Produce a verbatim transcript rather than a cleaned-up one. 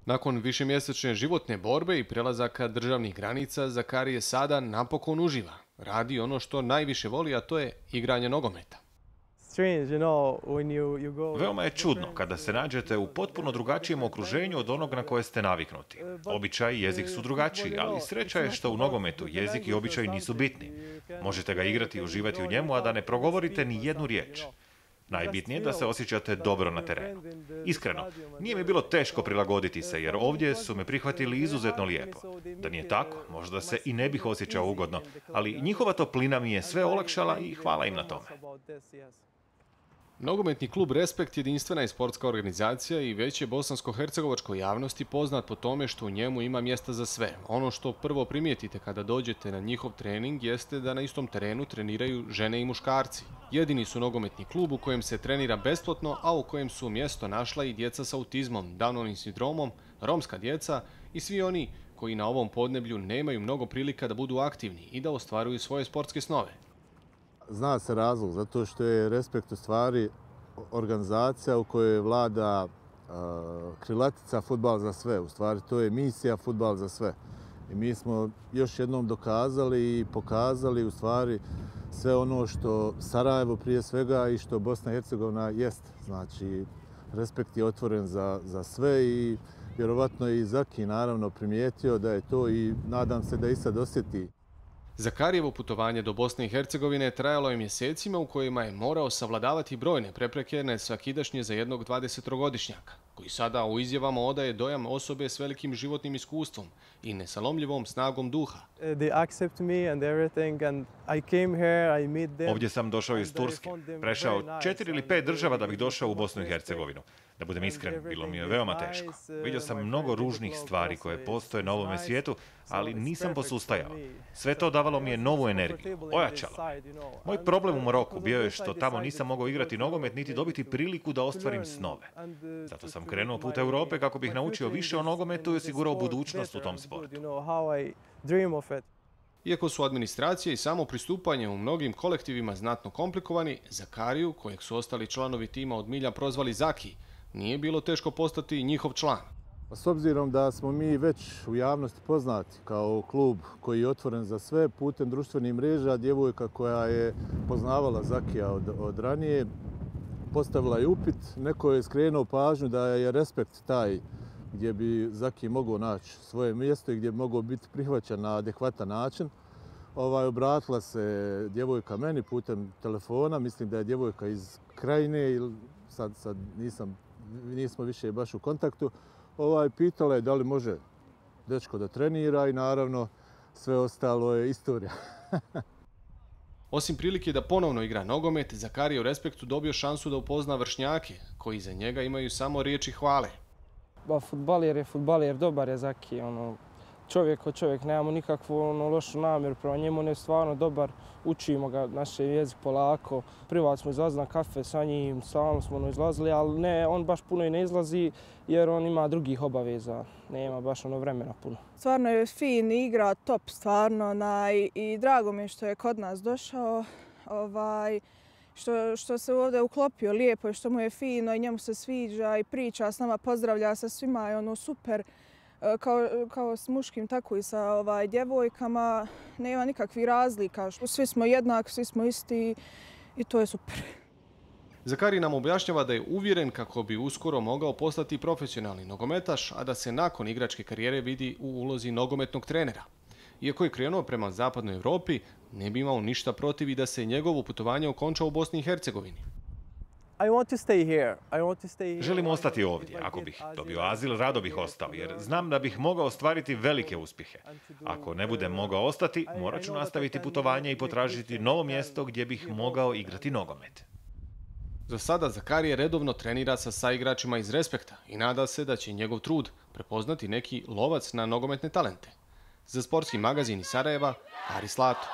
Nakon višemjesečne životne borbe i prelazaka državnih granica, Zakarije sada napokon uživa. Radi ono što najviše voli, a to je igranje nogometa. Veoma je čudno kada se nađete u potpuno drugačijem okruženju od onog na koje ste naviknuti. Običaj i jezik su drugačiji, ali sreća je što u nogometu jezik i običaj nisu bitni. Možete ga igrati i uživati u njemu, a da ne progovorite ni jednu riječ. Najbitnije je da se osjećate dobro na terenu. Iskreno, nije mi bilo teško prilagoditi se, jer ovdje su me prihvatili izuzetno lijepo. Da nije tako, možda se i ne bih osjećao ugodno, ali njihova toplina mi je sve olakšala i hvala im na tome. Nogometni klub Respekt jedinstvena je sportska organizacija i već je bosansko-hercegovačkoj javnosti poznat po tome što u njemu ima mjesta za sve. Ono što prvo primijetite kada dođete na njihov trening jeste da na istom terenu treniraju žene i muškarci. Jedini su nogometni klub u kojem se trenira besplatno, a u kojem su mjesto našla i djeca s autizmom, Downovim sindromom, romska djeca i svi oni koji na ovom podneblju nemaju mnogo prilika da budu aktivni i da ostvaruju svoje sportske snove. Zna se razlog, zato što je Respekt u stvari organizacija u kojoj vlada uh, krilatica fudbal za sve. U stvari to je misija fudbal za sve. I mi smo još jednom dokazali i pokazali u stvari sve ono što Sarajevo prije svega i što Bosna i Hercegovina jest. Znači, Respekt je otvoren za, za sve i vjerovatno je i Zaki naravno primijetio da je to i nadam se da i sad osjeti. Zakarijevo putovanje do Bosne i Hercegovine trajalo je mjesecima u kojima je morao savladavati brojne prepreke nesvakidašnje za jednog dvadesettrogodišnjaka, koji sada u izjavama odaje dojam osobe s velikim životnim iskustvom i nesalomljivom snagom duha. Ovdje sam došao iz Turske, prešao četiri ili pet država da bih došao u Bosnu i Hercegovinu. Da budem iskren, bilo mi je veoma teško. Vidio sam mnogo ružnih stvari koje postoje na ovome svijetu, ali nisam posustajao. Sve to davalo mi je novu energiju, ojačalo. Moj problem u Maroku bio je što tamo nisam mogao igrati nogomet niti dobiti priliku da ostvarim snove. Zato sam krenuo put Europe kako bih naučio više o nogometu i osigurao budućnost u tom sportu. Iako su administracija i samo pristupanje u mnogim kolektivima znatno komplikovani, Zakariju, kojeg su ostali članovi tima od milja prozvali Zaki, nije bilo teško postati njihov član. S obzirom da smo mi već u javnosti poznati kao klub koji je otvoren za sve putem društvenih mreža, djevojka koja je poznavala Zakija od, od ranije, postavila je upit, neko je skrenuo pažnju da je Respekt taj gdje bi Zaki mogao naći svoje mjesto i gdje bi mogao biti prihvaćen na adekvatan način. Ovaj, obratila se djevojka meni putem telefona, mislim da je djevojka iz Krajine, ili sad, sad nisam, nismo više baš u kontaktu. Ovaj, pitala je da li može dečko da trenira i naravno sve ostalo je istorija. Osim prilike da ponovno igra nogomet, Zakarije u Respektu dobio šansu da upozna vršnjake, koji za njega imaju samo riječi hvale. Ba, fudbaler je fudbaler, dobar je Zaki, ono, čovjek od čovjek, nemamo nikakvu ono, lošu namjeru prema njemu, on je stvarno dobar, učimo ga naše jezik polako. Privat smo izlazili na kafe sa njim, stalno smo ono izlazili, ali ne, on baš puno i ne izlazi jer on ima drugih obaveza, nema baš ono vremena puno. Stvarno je fin, igra top stvarno na, i, i drago mi je što je kod nas došao, ovaj, što, što se ovdje uklopio lijepo i što mu je fino i njemu se sviđa i priča s nama, pozdravlja sa svima i ono super. Kao, kao s muškim, tako i sa ovaj, djevojkama, nema nikakvih razlika. Svi smo jednaki, svi smo isti i to je super. Zakari nam objašnjava da je uvjeren kako bi uskoro mogao postati profesionalni nogometaš, a da se nakon igračke karijere vidi u ulozi nogometnog trenera. Iako je krenuo prema zapadnoj Europi, ne bi imao ništa protiv i da se njegovo putovanje okonča u Bosni i Hercegovini. Želim ostati ovdje. Ako bih dobio azil, rado bih ostao, jer znam da bih mogao ostvariti velike uspjehe. Ako ne budem mogao ostati, morat ću nastaviti putovanje i potražiti novo mjesto gdje bih mogao igrati nogomet. Za sada Zakarije redovno trenira sa saigračima iz Respekta i nada se da će njegov trud prepoznati neki lovac na nogometne talente. Za sportski magazin iz Sarajeva, Aris Lato.